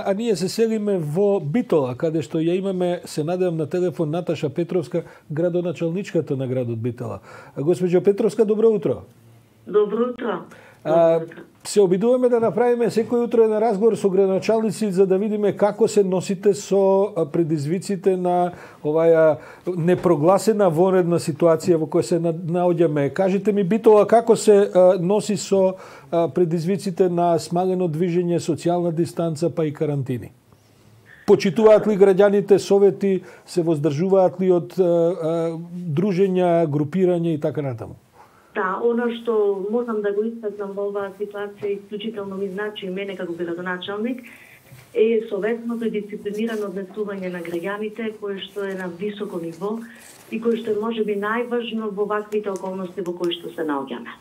А ние се селиме во Битола, каде што ја имаме, се надевам на телефон, Наташа Петровска, градоначалничката на градот Битола. Госпоđo Петровска, добро утро. Добро утро. Се обидуваме да направиме секој утро еден разговор со градоначалници за да видиме како се носите со предизвиците на оваа непрогласена вонредна ситуација во која се наоѓаме. Кажете ми, Битола, како се носи со предизвиците на смалено движење, социјална дистанца, па и карантини? Почитуваат ли граѓаните совети, се воздржуваат ли од дружења, групирање и така натаму? Да, оно што можам да го истакнам во оваа ситуација исклучително ми значи мене како градоначалник е советното и дисциплинирано однесување на граѓаните, кое што е на високо ниво и кое што е можеби најважно во ваквите околности во кои што се наоѓаме.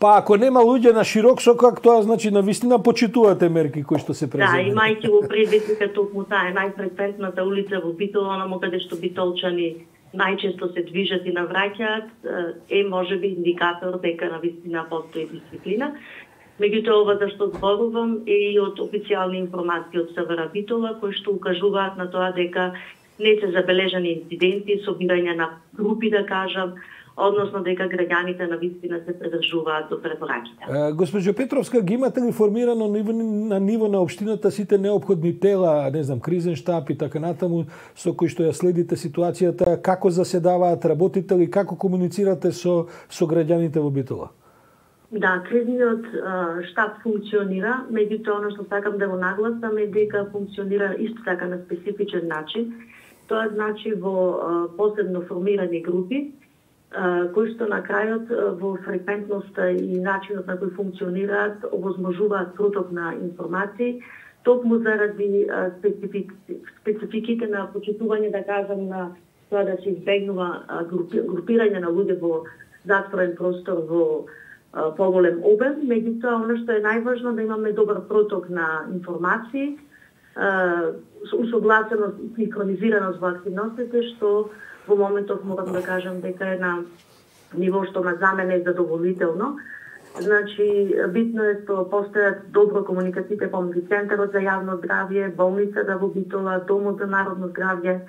Па ако нема луѓе на широк сокак, тоа значи на вистина почитувате мерки кои што се преземени. Да, имајќи во предвид дека токму таа е најфреквентната улица во Битола, онamo каде што битолчани најчесто се движат и навраќаат, е можеби индикатор дека навистина постои дисциплина. Меѓутоа, ова за што зборувам е и од официјални информации од СВР Битола, кои што укажуваат на тоа дека не се забележани инциденти, собирање на групи, да кажам, односно дека граѓаните навистина се придржуваат до препораките. Госпоđo Петровска, ги имате ли формирано на ниво на општината сите неопходни тела, не знам, кризен штаб и така натаму, со кои што ја следите ситуацијата, како заседаваат, работите ли, како комуницирате со граѓаните во Битола? Да, кризниот штаб функционира, меѓутоа ono што сакам да го нагласам е дека функционира исто така на специфичен начин. Тоа значи во посебно формирани групи, кои што на крајот во фреквентноста и начинот на кој функционираат овозможуваат проток на информации, токму заради спецификите на почитување, да кажам, на тоа да се избегнува групирање на луѓе во затворен простор во поголем обем, меѓутоа оно што е најважно да имаме добар проток на информации, усогласеност и синхронизираност во активностите, што во моментов морам да кажам дека е на ниво што за мене е задоволително. Значи, битно е што постојат добро комуникациите помеѓу Центарот за јавно здравје, болницата во Битола, Домот за народно здравје,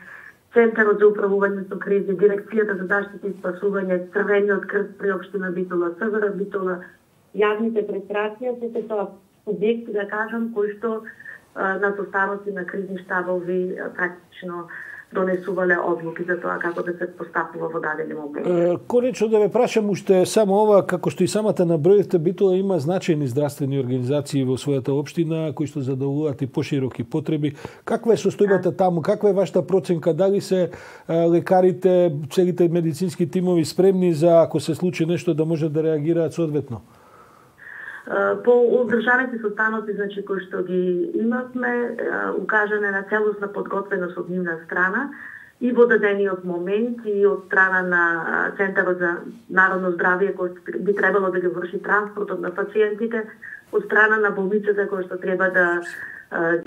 Центарот за управување со кризи, Дирекцијата за заштита и спасување, Црвениот крст при општина Битола, СВР Битола, јавните предпријатија, сите тоа субјекти, да кажам, кои што на составоци на кризни штабови практично донесувале одлуки за тоа како да се постапува во дадени момент. Конечно да ве прашам уште само ова, како што и самата наброивте, Битола има значајни здравствени организации во својата општина кои што задоволуваат и пошироки потреби. Каква е состојбата таму? Каква е вашата проценка? Дали се лекарите, целите медицински тимови спремни за ако се случи нешто да можат да реагираат соодветно? По одржаните состаноци, значи, кои што ги имавме, укажана на целосна подготвеност од нивна страна и во дадениот момент и од страна на Центарот за народно здравје, кој би требало да ги врши транспортот на пациентите, од страна на болницата кој што треба да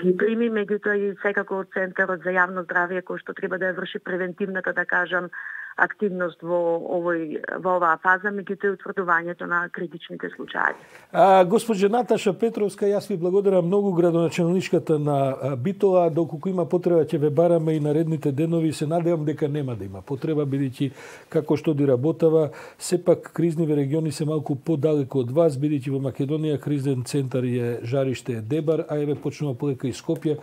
ги прими, меѓутоа и секако од Центарот за јавно здравје кој што треба да ја врши превентивната, да кажам, активност во оваа фаза, меѓутоа утврдувањето на критичните случаи. Госпоđo Наташа Петровска, јас ви благодарам многу, градоначалничката на Битола. Доколку има потреба ќе ве бараме и наредните денови. Се надевам дека нема да има потреба, бидејќи како што ди работава, сепак кризниви региони се малку подалеку од вас, бидејќи во Македонија кризен центар е жариште е Дебар, а еве почнува полека и Скопје.